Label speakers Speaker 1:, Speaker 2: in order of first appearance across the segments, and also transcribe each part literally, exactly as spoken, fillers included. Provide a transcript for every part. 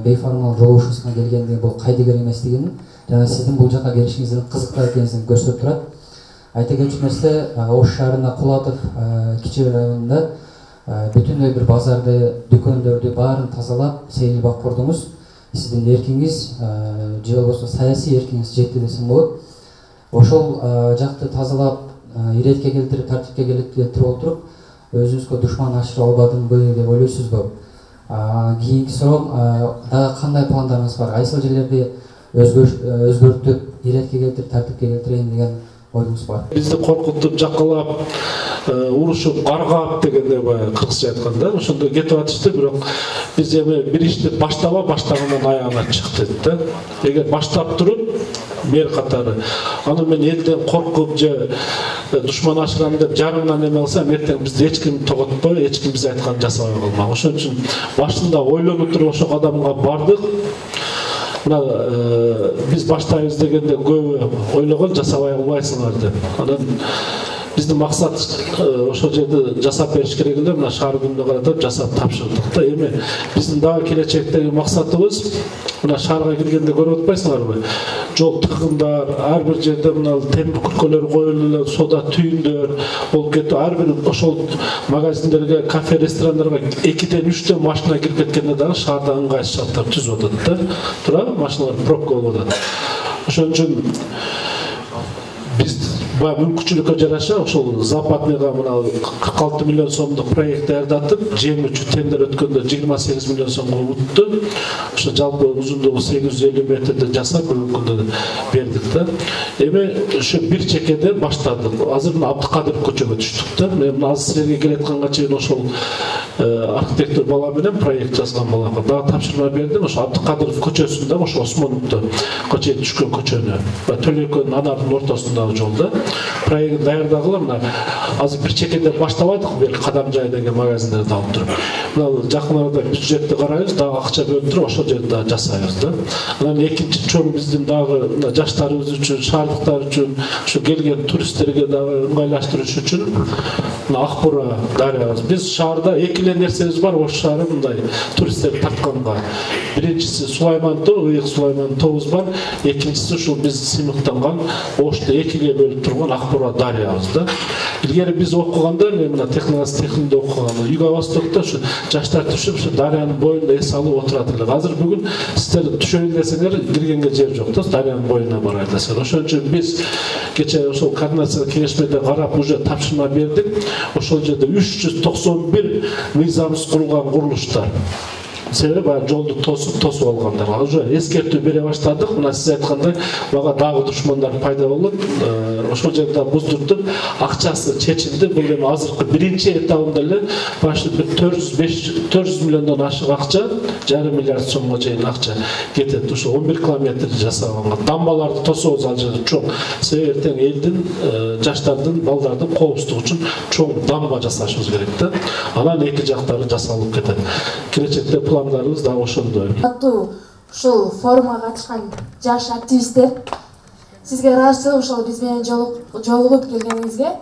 Speaker 1: бейформал жолугушуусуна келгендиги бул кайдыгер эместигин жана сиздин бул жака келишиңиздин кызыктуу экенин көрсөтүп турат. Айта кетчү нерсе, Ош шаарында Кулатов кичи районунда бүтүндөй бир базарды, дүкөндөрдү баарын тазалап, сейил бак курдуңуз. Сиздин эркиңиз, же болбосо саясий эркиңиз жетти десем болот. Ошол жакты тазалап, иретке келтирип, тартипке келтирип отуруп, өзүңүзгө душман ашыра албадымбы деп ойлойсузбу? Кийинки суроо, дагы кандай пландарыңыз бар? Кайсыл жерлерди өзгөртүп, иретке келтирип, тартипке келтирейин деген оюңуз бар?
Speaker 2: Бизди коркутуп, жакалап, урушуп, каргап дегенде баягы кыргызча айтканда, ошондой кетип атышты, бирок биз эми бир ишти баштаба, баштагандан аягына чык дедик да. Эгер баштап туруп, мер катары, аны мен элден коркуп же душман ашырам деп жарымдан эме алсам, эртең бизди эч ким тоготпой, эч ким биз айтканды жасабай калмак. Ошон үчүн башында ойлонуп туруп ошол кадамга бардык. Мына биз баштайбыз дегенде көбү ойлогон жасабай албайсыңар деп. Анан биздин максат ошол жерде жасап бериш керек эле, мына шаар күнүнө каратып жасап тапшырдык да. Эми биздин дагы келечектеги максатыбыз мына шаарга киргенде көрүп атпайсыңарбы? Жол тыгындар, ар бир жерде мына темир күркөлөр коюлуп, сода түйүндөр болуп кетип, ар бир ошол магазиндерге, кафе, ресторандарга экиден үчтөн машина кирип кеткенде дагы шаарда ыңгайсыз шарттар түзүп атат да. Туурабы? Машиналар пробка болуп атат. Ошон үчүн биз баягы мүмкүнчүлүккө жараша ошол западныйга мына кырк алты миллион сомдук проект даярдатып, жеңүүчү тендер өткөндө жыйырма сегиз миллион сомго утtu. Ошо жалпы узундугу сегиз жүз элүү метрде жасап бүгүнкү күндө бердик да. Эми ошо бир чекеде баштадык. Азыр мына Абдыкадыр көчөгө түштүк да. Мен мына азыр силерге келатканга чейин ошол архитектор бала менен проект жазган балага дагы тапшырма бердим. Ошо Абдыкадыров көчөсүндө, ошо Осмоновдо көчө түшкөн көчөнү, Төлөкөнүн анардын ортосундагы жолдо проект даярдагыла. Мына азыр бир чекеде баштабадык, бир Кадамжай деген магазиндерди алып туруп. Мына жакын арада бюджетти карайбыз, дагы акча бөлүп туруп ошол жерде дагы жасайбыз да. Анан экинчи чоң биздин дагы мына жаштарыбыз үчүн, шаардыктар үчүн, ушу келген туристтерге дагы ыңгайлаштырыш үчүн мына Акбура дарыябыз. Биз шаарда эки эле нерсебиз бар, Ош шаары мындай туристтерди тартканга. Биринчиси Сулайман тоо, Ыйык Сулайман тообуз бар. Экинчиси ушул биз сыймыктанган Ошто экиге бөлүп турган Акбура дарыябыз да. Илгери биз окуганда, мен мына технология техникумда окуганда, Юго-Востокто ушу жаштар түшүп, ушу дарыянын боюнда эс алып отурат эле. Азыр бүгүн сиздер түшөйүн десеңер, киргенге жер жок да, дарыянын боюна барайын десеңер. Ошон үчүн биз кечээ ошол координация кеңешмеде карап уже тапшырма бердик. Ошол жерде үч жүз токсон бир мыйзамсыз курулган курулуштар. Себеби баягы жолду тосуп тосуп алгандарга уже эскертүү бере баштадык. Мына сиз айткандай, мага дагы душмандар пайда болуп, ошол жерде буздуртуп, акчасы чечилди. Бул эми азыркы биринчи этабында эле почти төрт жүз миллиондон ашык акча, жарым миллиард сомго чейин акча кетет. Ошо он бир километр жасаганга. Дамбаларды тособуз ал жерде чоң. Себеби эртең элдин, жаштардын, балдардын коопсуздугу үчүн чоң дамба жасашыбыз керек да. Анан эки жактары жасалып кетет. Келечекте пландарыбыз да ошондой.
Speaker 3: Аттуу ушул форумга катышкан жаш активисттер, сизге ыраазычылык ушул биз менен жолугуп келгениңизге.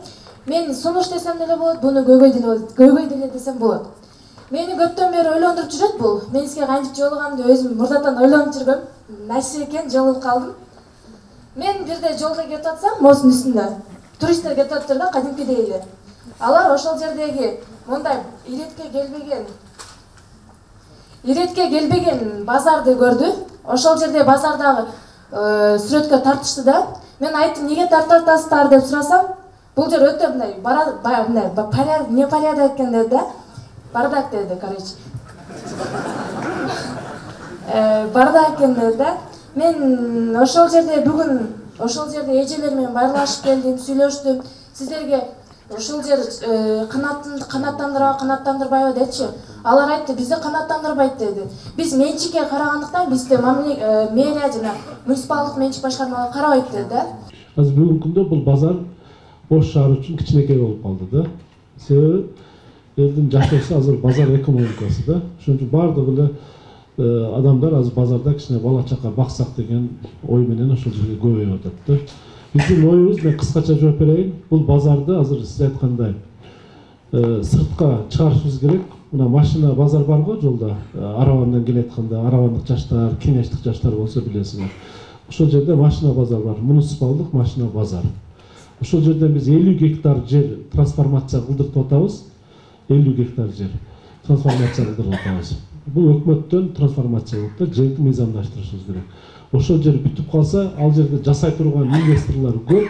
Speaker 3: Мен сунуш десем деле болот, буну көйгөй деле көйгөй деле десем болот. Мени көптөн бери ойлондуруп жүрөт бул. Мен сизге кантип жолугамды өзүм мурдатан ойлонуп жүргөм. Нерсе экен, жолугуп калдым. Мен бирде жолдо кетип атсам, моздун үстүндө туристтер кетип атыптыр да, кадимкидей эле. Алар ошол жердеги мындай иретке келбеген Иретке келбеген базарды көрдү. Ошол жерде базардагы сүрөткө тартышты да. Мен айттым, неге тартып атасыздар деп сурасам, бул жер өтө мындай мындай порядок, не порядок экен деди да. Бардак деди, короче. Бардак экен деди да. Мен ошол жерде бүгүн ошол жерде эжелер менен байрлашып келдим, сүйлөштүм. Сиздерге ошол жер канаттандырабы, канаттандырбайбы дечи. Алар айтты, бизди канаттандырбайт деди. Биз менчикке карагандыктан бизде мэрия жана муниципалдык менчик башкармалар карабайт деди да.
Speaker 2: Азыр бүгүнкү күндө бул базар Ош шаары үчүн кичинекей болуп калды да. Себеби элдин жашоосу азыр базар экономикасы да. Ошон үчүн баардык эле адамдар азыр базарда кичине бала чака баксак деген ой менен ошол жерге көбөйүп атат да. Биздин оюбуз, мен кыскача жооп берейин, бул базарды азыр сиз айткандай сыртка чыгарышыбыз керек. мына машина базар бар го жолдо, Арабандан келетканда, арабандык жаштар, кеңештик жаштар болсо билесиңер. Ошол жерде машина базар бар, муниципалдык машина базар. Ошол жерден биз элүү гектар жер трансформация кылдыртып атабыз. элүү гектар жер трансформация кылдырып атабыз. Бул өкмөттөн трансформация болуп да, жерди мыйзамдаштырышыбыз керек. Ошол жер бүтүп калса, ал жерде жасай турган инвесторлор көп.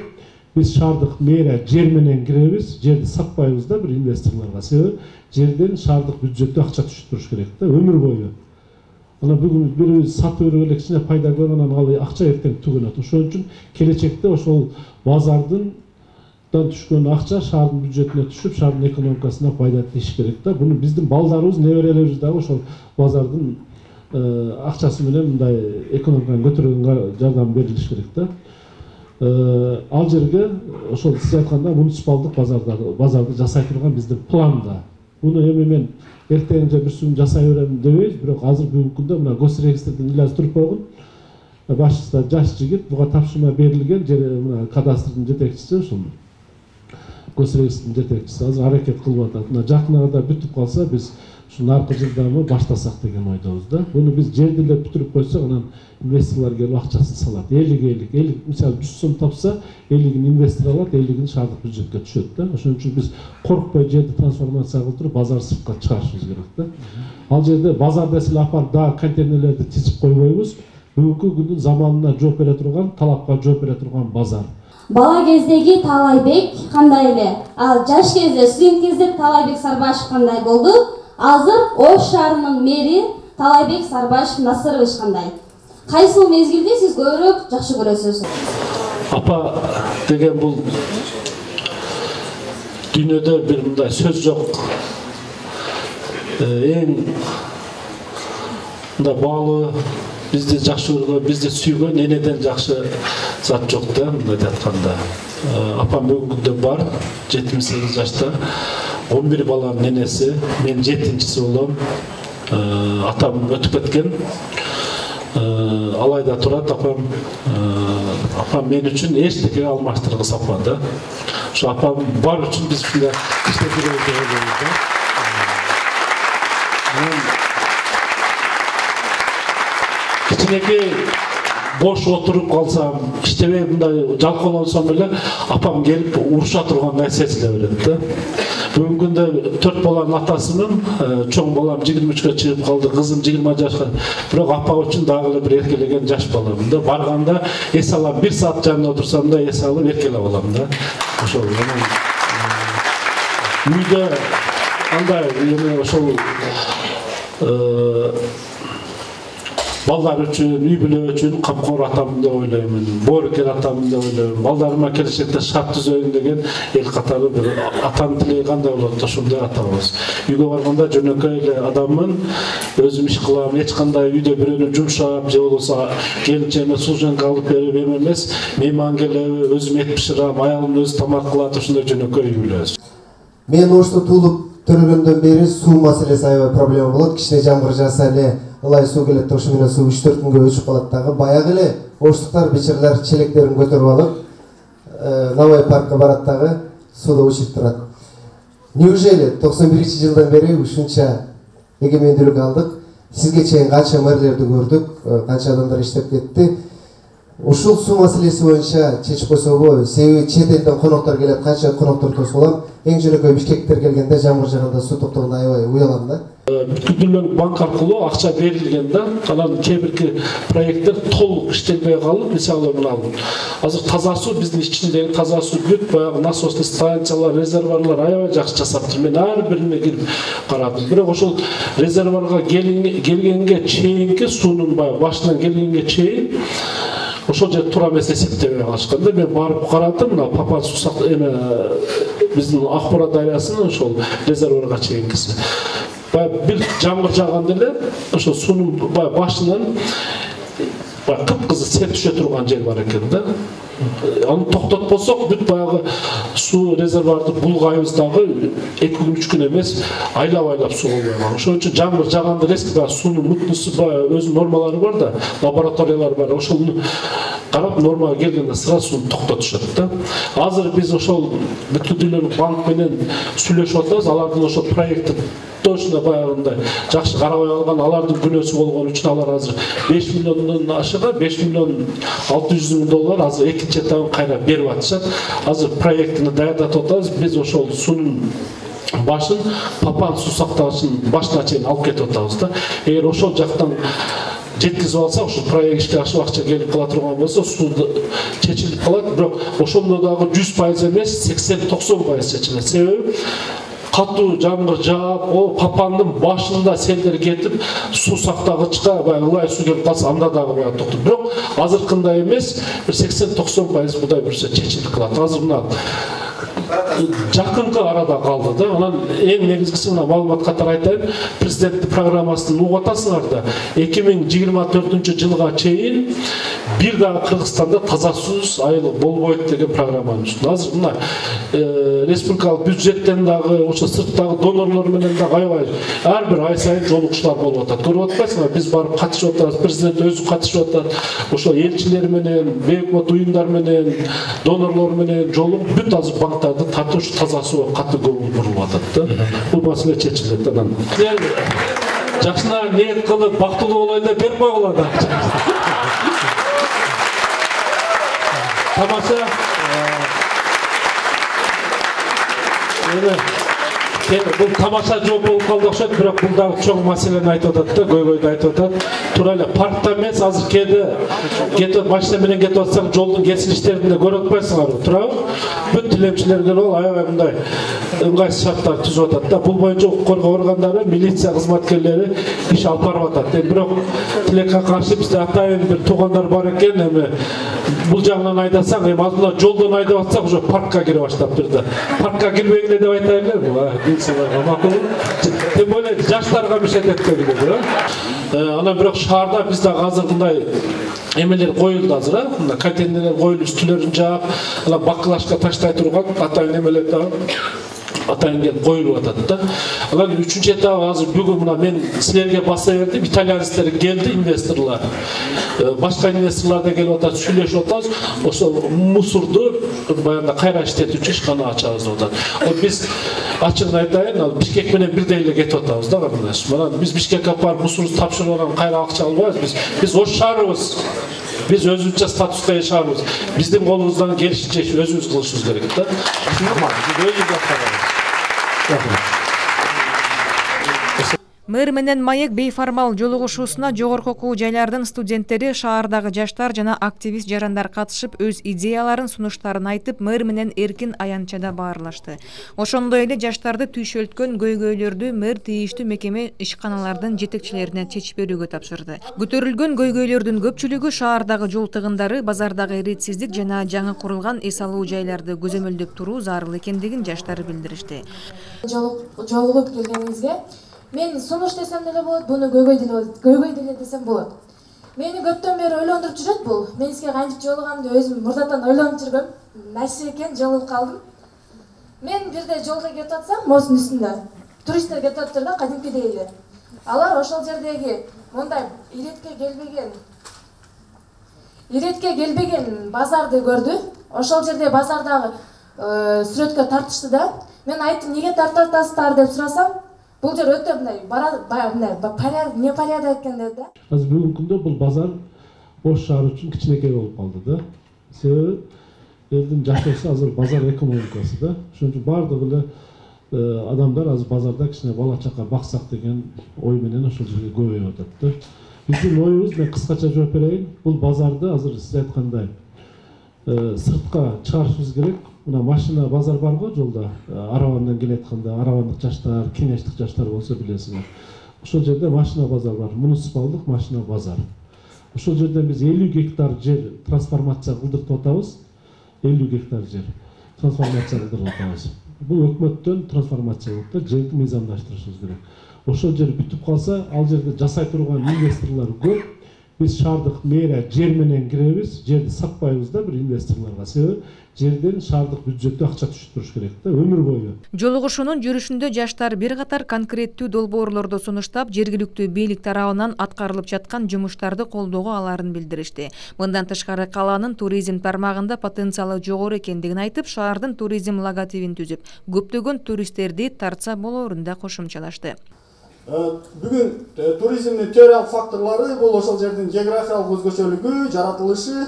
Speaker 2: Biz шаардык мэрия жер менен киребиз, жерди сатпайбыз да бир инвесторлорго. Себеби жерден шаардык бюджетке акча түшүп туруш керек да, өмүр бою. Ана бүгүн бирибиз сатып берип эле кичине пайда көрүп, анан ал акча эртең түгөнөт. Ошол үчүн келечекте ошол базардын түшкөн акча шаардын бюджетине түшүп, шаардын экономикасына пайда тийиш керек да. Буну биздин балдарыбыз, неберелерибиз дагы ошол базардын акчасы менен мындай экономиканы көтөргөнгө жардам берилиш керек да. Ал жерге ошол сиз айтканда муниципалдык базарды базарды жасай турган биздин планда. Буну эми мен эртең же бир сүм жасай берем дебейбиз, бирок азыр бүгүнкү күндө мына госрегистрден Ильяс Турпогун башчысы жаш жигит, буга тапшырма берилген, мына кадастрдын жетекчиси ушул госрегистрдин жетекчиси азыр аракет кылып атат. Мына жакын арада бүтүп калса биз ушу наркы жылдамы баштасак деген ойдобуз да. Буну биз жерди эле бүтүрүп койсок, анан инвесторлор келип акчасын салат. элүү элүү, элүү мисалы жүз сом тапса, элүүгүн инвестор алат, элүүгүн шаардык бюджетке түшөт да. Ошон үчүн биз коркпой жерди трансформация кылдырып, базар сыртка чыгарышыбыз керек да. Ал жерде базар деселе апарып да контейнерлерди тизип койбойбуз. Бүгүнкү күндүн заманына жооп бере турган, талапка жооп бере турган базар.
Speaker 4: Бала кездеги Талайбек кандай эле? Ал жаш кезде, студент кезде Талайбек Сарбашев кандай болду? Азыр Ош шаарынын мэри Талайбек Сарбашев Насырович кандай? Кайсыл мезгилди сиз көбүрөөк жакшы көрөсүз?
Speaker 2: Апа деген бул дүйнөдө бир мындай сөз жок. Эң мындай баалуу, бизди жакшы көргөн, бизди сүйгөн энеден жакшы зат жок да, мындай айтканда. Апам бүгүнкү күндө бар, жетимиш сегиз жашта, он бир баланын энеси, мен жетинчиси болом. Атам өтүп кеткен. Алайда турат апам, апам мен үчүн эчтеке алмаштыргыс апа да. Ошо апам бар үчүн биз ушундай иштеп жүрөбүз деп ойлойбуз да. Кичинекей бош отуруп калсам, иштебей мындай жалкоолонсом эле апам келип уруша тургандай сезиле берет да. Бүгүнкү күндө төрт баланын атасымын, чоң балам жыйырма үчкө чыгып калды, кызым жыйырма жашка. Бирок апа үчүн дагы эле бир эркелеген жаш баламын да. Барганда эс алам, бир саат жанында отурсам да эс алып эркелеп алам да. Ошол үйдө андай эми ошол балдар үчүн, үй бүлө үчүн камкор атамын деп ойлоймун, боорукер атамын деп ойлоймун. Балдарыма келечекте шарт түзөйүн деген эл катары бир атанын тилеги кандай болот, ошондой ата болобуз. Үйгө барганда жөнөкөй эле адаммын, өзүм иш кылам, эч кандай үйдө бирөөнү жумшап, же болбосо келинчеме служенка алып берип эме эмес, мейман келеби, өзүм эт бышырам, аялым өзү тамак кылат, ошондой жөнөкөй үй бүлөбүз.
Speaker 5: Мен Ошто туулуп төрөгөндөн бери суу маселеси аябай проблема болот. Кичине жамгыр жааса эле ылай суу келет, ошо менен суу үч төрт күнгө өчүп калат дагы. Баягы эле оштуктар, бичирлер челектерин көтөрүп алып, Навай паркка барат дагы, сууда учуп турат. Неужели токсон биринчи жылдан бери ушунча эгемендүүлүк алдык? Сизге чейин канча мэрлерди көрдүк, канча адамдар иштеп кетти. Ушул суу маселеси боюнча чечип койсо болбойбу? Себеби чет элден коноктор келет, канча коноктор тосулам. Эң жөнөкөй Бишкектер келгенде жамгыр жааганда суу токтогонда аябай уялам да.
Speaker 2: Бүткүл дүйнөлүк банк аркылуу акча берилген да. Анан кээ бирки проекттер толук иштелбей калып, мисалы мына азыр таза суу, биздин ичиндеги таза суу бүт, баягы насостный станциялар, резервуарлар аябай жакшы жасаптыр. Мен ар бирине кирип карадым. Бирок ошол резервуарга келгенге чейинки суунун баягы башынан келгенге чейин ошол жер туура эмес эсептебей калышканда, мен барып карадым, мына Папа сусак эме биздин Акбора дарыясынын ошол резервуарга чейинкиси. Баягы бир жамгыр жааганда эле ошо суунун баягы башынан баягы кыпкызыл сеп түшө турган жер бар экен да. Аны токтотпосок бүт баягы суу резервуарды булгайбыз дагы эки күн үч күн эмес, айлап-айлап суу болбой калган. Ошон үчүн жамгыр жааганда резко баягы суунун мутнусу баягы өзүнүн нормалары бар да, лабораториялар бар. Ошону карап нормага келгенде сразу сууну токтотушат да. Азыр биз ошол бүткүл дүйнөлүк банк менен сүйлөшүп атабыз, алардын ошол проекти точно баягындай жакшы карабай алган, алардын күнөөсү болгон үчүн алар азыр беш миллиондон ашыга беш миллион алты жүз миң доллар азыр экинчи этабын кайра берип атышат. Азыр проектини даярдатып атабыз. Биз ошол сунун башын Папан суу сактагычынын башына чейин алып кетип атабыз да. Эгер ошол жактан жеткизип алсак, ошол проект ишке ашып акча келип кала турган болсо, суу чечилип калат. Бирок ошондо дагы жүз пайыз эмес, сексен токсон пайыз чечилет. Себеби катуу жамгыр жаап, о Папандын башында селдер кетип, суу сактагычка баягы ылай суу келип калса, анда дагы баягы токтойт. Бирок азыркындай эмес, бир сексен токсон пайыз Кудай буюрса чечилип калат. Азыр мына жакынкы арада калды да. Анан эң негизгиси мына маалымат катары айтайын. Президенттин программасын угуп атасыңар да. эки миң жыйырма төртүнчү жылга чейин бир дагы Кыргызстанда таза суусуз айыл болбойт деген программаны түзүп. Азыр мына республикалык бюджеттен дагы, ошо сырттагы донорлор менен дагы аябай ар бир ай сайын жолугушуулар болуп атат. Көрүп атпайсыңарбы? Биз барып катышып атабыз, президент өзү катышып атат. Ошо элчилер менен, бейөкмөт уюмдар менен, донорлор менен жолугуп бүт азыр банктарды тартып ушу таза сууга катуу көңүл бурулуп атат да. Бул маселе чечилет. Анан жакшына ниет кылып бактылуу болоюн деп берип койгула да. Тамаша. Бул тамаша жооп болуп калды окшойт, бирок бул дагы чоң маселени айтып атат да, көйгөйдү айтып атат. Туура эле паркта эмес, азыр кээде кетип машина менен кетип атсаң, жолдун кесилиштерин да көрүп атпайсыңарбы, туурабы? Бүт тилемчилерге бол аябай мындай ыңгайсыз шарттар түзүп атат да. Бул боюнча укук коргоо органдары, милиция кызматкерлери иш алып барып атат. Эми бирок тилекке каршы бизде атайын бир туугандар бар экен, эми бул жагынан айдасаң, эми азыр жолдон айдап атсак, уже паркка кире баштаптыр да. Паркка кирбегиле деп айтайын эле. Тем более жаштарга мишет этпегиле да. Анан бирок шаарда биз дагы азыркындай эмелер коюлду азыр, а? Мына контейнерлер коюлуп, үстүлөрүн жаап, анан бакылашка таштай турган атайын эмелер дагы атайын келип коюлуп атат да. Анан үчүнчү этап азыр бүгүн мына мен силерге баса бердим, итальянецтер келди, инвесторлор. Башка инвесторлор да келип атат, сүйлөшүп атабыз. Ошол мусорду баягында кайра иштетүүчү ишкана ачабыз деп атат. Ол биз ачыгын айтайын, ал Бишкек менен бирдей эле кетип атабыз да кардаш. Мына биз Бишкекке барып мусорду тапшырып алган кайра акча албайбыз. Биз биз ош шаарыбыз. Биз өзүбүзчө статуска жашаарбыз. Биздин колубуздан келишинче өзүбүз кылышыбыз керек да.
Speaker 6: Мэр менен Маек бейформал жолугушуусуна жогорку окуу жайлардын студенттери, шаардагы жаштар жана активист жарандар катышып, өз идеяларын, сунуштарын айтып, мэр менен эркин аянтчада баарлашты. Ошондой эле жаштарды түйшөлткөн көйгөйлөрдү мэр тийиштүү мекеме ишканалардын жетекчилерине чечип берүүгө тапшырды. Көтөрүлгөн көйгөйлөрдүн көпчүлүгү шаардагы жол тыгындары, базардагы иретсиздик жана жаңы курулган эс алуу жайларды көзөмөлдөп туруу зарыл экендигин жаштар билдиришти.
Speaker 3: Жолугуп келгениңизге мен сунуш десем деле болот, буну көйгөй деле болот, көйгөй деле десем болот. Мени көптөн бери ойлондуруп жүрөт бул. Мен сизге кантип жолуганымды өзүм мурдатан ойлонуп жүргөм. Нерсе экен, жолугуп калдым. Мен бирде жолдо кетип атсам, мостун үстүндө туристтер кетип атыптыр да, кадимкидей эле. Алар ошол жердеги мындай иретке келбеген иретке келбеген базарды көрдү. Ошол жерде базардагы сүрөткө тартышты да. Мен айттым, неге тартып атасыздар деп сурасам, бул жер өтө мындай бара мындай порядок, не порядок экен деп да.
Speaker 2: Азыр бүгүнкү күндө бул базар Ош шаары үчүн кичинекей болуп калды да. Себеби элдин жашоосу азыр базар экономикасы да. Ошон үчүн баардык эле адамдар азыр базарда кичине бала чака баксак деген ой менен ошол жерге көбөйүп атат да. Биздин оюбуз, мен кыскача жооп берейин, бул базарды азыр сиз айткандай сыртка чыгарышыбыз керек. Мына машина базар бар го жолдо, Арабандан келатканда, арабандык жаштар, кеңештик жаштар болсо билесиңер. Ошол жерде машина базар бар, муниципалдык машина базар. Ошол жерден биз элүү гектар жер трансформация кылдыртып атабыз. элүү гектар жер трансформация кылдырып атабыз. Бул өкмөттөн трансформация болуп да, жерди мыйзамдаштырышыбыз керек. Ошол жер бүтүп калса, ал жерде жасай турган инвесторлор көп. биз шаардык мэрия жер менен киребиз, жерди сатпайбыз да бир инвесторлорго. Себеби жерден шаардык бюджетке акча түшүп туруш керек да өмүр бою.
Speaker 6: Жолугушуунун жүрүшүндө жаштар бир катар конкреттүү долбоорлорду сунуштап, жергиликтүү бийлик тарабынан аткарылып жаткан жумуштарды колдоого аларын билдиришти. Мындан тышкары каланын туризм тармагында потенциалы жогору экендигин айтып, шаардын туризм логотипин түзүп, көптөгөн туристтерди тартса болоорун да кошумчалашты.
Speaker 7: Бүгүн туризмдин теориялык факторлору бул ошол жердин географиялык өзгөчөлүгү, жаратылышы,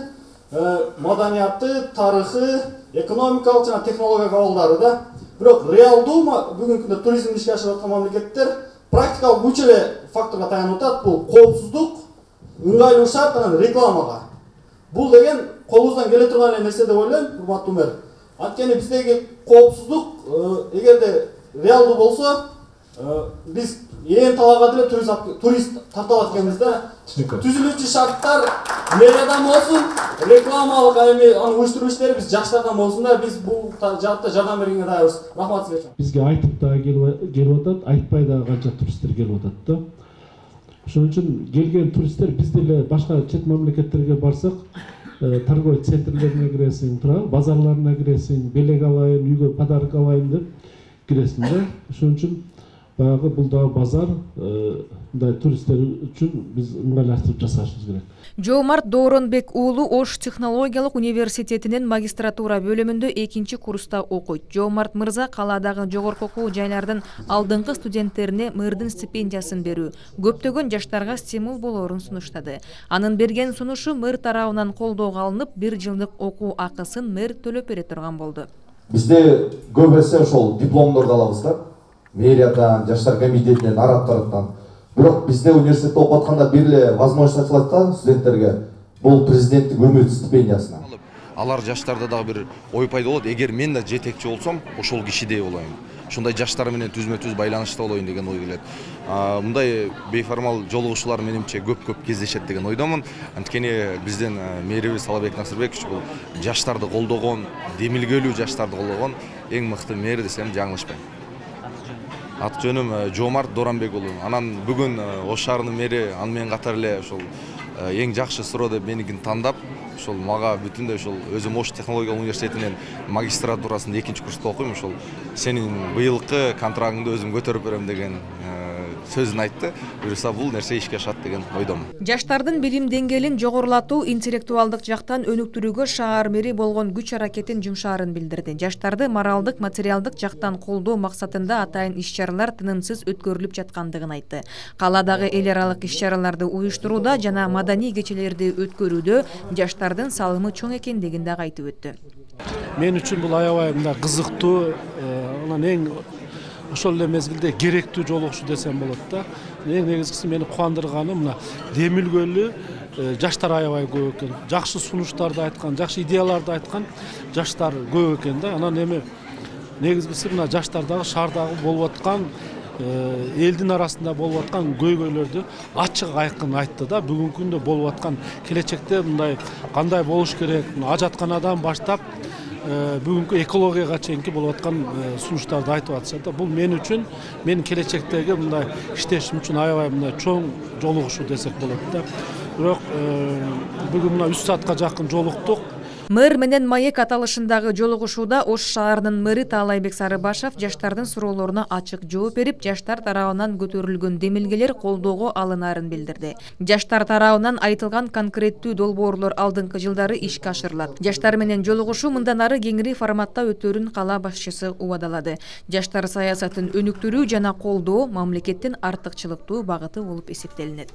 Speaker 7: маданияты, тарыхы, экономикалык жана технологиялык абалдары да. Бирок реалдуу бүгүнкү күндө туризмди ишке ашырып аткан мамлекеттер практикалык үч эле факторго таянып атат. Бул коопсуздук, ыңгайлуу шарт анан рекламага. Бул деген колубуздан келе турган эле нерсе деп ойлойм, урматтуу мэр. Анткени биздеги коопсуздук эгерде реалдуу болсо, биз ээн талаага деле турист тарта алат экенбиз да. Түзүлүүчү шарттар мэриядан болсун, рекламалык эми аны уюштуруу иштери биз жаштардан болсун да, биз бул жаатта жардам бергенге даярбыз. Рахмат сизге.
Speaker 2: Бизге айтып дагы келип атат, айтпай дагы канча туристтер келип атат да. Ошон үчүн келген туристтер биз деле башка чет мамлекеттерге барсак, торговый центрлерине киресиң, туурабы, базарларына киресиң, белек алайын, үйгө подарок алайын деп киресиң да. Ошон үчүн баягы бул дагы базар, мындай туристтер үчүн биз ыңгайлаштырып жасашыбыз керек.
Speaker 6: Жоомарт Дооронбек уулу Ош технологиялык университетинин магистратура бөлүмүндө экинчи курста окуйт. Жоомарт мырза калаадагы жогорку окуу жайлардын алдыңкы студенттерине мэрдин стипендиясын берүү көптөгөн жаштарга стимул болоорун сунуштады. Анын берген сунушу мэр тарабынан колдоого алынып, бир жылдык окуу акысын мэр төлөп бере турган болду.
Speaker 8: Бизде көп эсе ошол дипломдорду алабыз да. Мэриядан, жаштар комитетинен, араттардан. Бирок бизде университетте окуп атканда бир эле возможность ачылат да студенттерге. Бул президенттик өмүр стипендиясына.
Speaker 9: Алар жаштарда дагы бир ой пайда болот. Эгер мен да жетекчи болсом, ошол кишидей болоюн. Ушундай жаштар менен түзмө-түз байланышта болоюн деген ой келет. Мындай бейформал жолугушуулар менимче көп-көп кездешет деген ойдомун. Анткени биздин мэрибиз Талабек Насырбекович бул жаштарды колдогон, демилгелүү жаштарды колдогон эң мыкты мэр десем жаңылышпайм. Аты жөнүм Жоомарт Дооронбек уулу. Анан бүгүн Ош шаарынын мэри аны менен катар эле ошол эң жакшы суроо деп меникин тандап, ошол мага бүтүндөй ошол өзүм Ош технологиялык университетинин магистратурасында экинчи курста окуйм, ошол сенин быйылкы контрагыңды өзүм көтөрүп берем деген сөзүн айтты. Буюрса бул нерсе ишке ашат деген ойдомун.
Speaker 6: Жаштардын билим деңгээлин жогорулатуу, интеллектуалдык жактан өнүктүрүүгө шаар мэри болгон күч аракетин жумшаарын билдирди. Жаштарды моралдык, материалдык жактан колдоо максатында атайын иш-чаралар тынымсыз өткөрүлүп жаткандыгын айтты. Калаадагы эл аралык иш-чараларды уюштурууда жана маданий кечелерди өткөрүүдө жаштардын салымы чоң экендигин дагы айтып өттү.
Speaker 2: Мен үчүн бул аябай мындай кызыктуу, анан эң ошол эле мезгилде керектүү жолугушуу десем болот да. Эң негизгиси мени кубандырганы мына демилгөлүү жаштар аябай көп экен. Жакшы сунуштарды айткан, жакшы идеяларды айткан жаштар көп экен да. Анан эми негизгиси мына жаштардагы шаардагы болуп аткан, элдин арасында болуп аткан көйгөйлөрдү ачык айкын айтты да. Бүгүнкү күндө болуп аткан келечекте мындай кандай болуш керек, ажатканадан баштап бүгүнкү экологияга чейинки болуп аткан сунуштарды айтып атышат да. Бул мен үчүн, менин келечектеги мындай иштешим үчүн аябай мындай чоң жолугушуу десек болот да. Бирок бүгүн мына үч саатка жакын жолуктук.
Speaker 6: Мэр менен маек аталышындагы жолугушууда Ош шаарынын мэри Таалайбек Сарыбашев жаштардын суроолоруна ачык жооп берип, жаштар тарабынан көтөрүлгөн демилгелер колдоого алынаарын билдирди. Жаштар тарабынан айтылган конкреттүү долбоорлор алдыңкы жылдары ишке ашырылат. Жаштар менен жолугушуу мындан ары кеңири форматта өтөөрүн кала башчысы убадалады. Жаштар саясатын өнүктүрүү жана колдоо мамлекеттин артыкчылыктуу багыты болуп эсептелинет.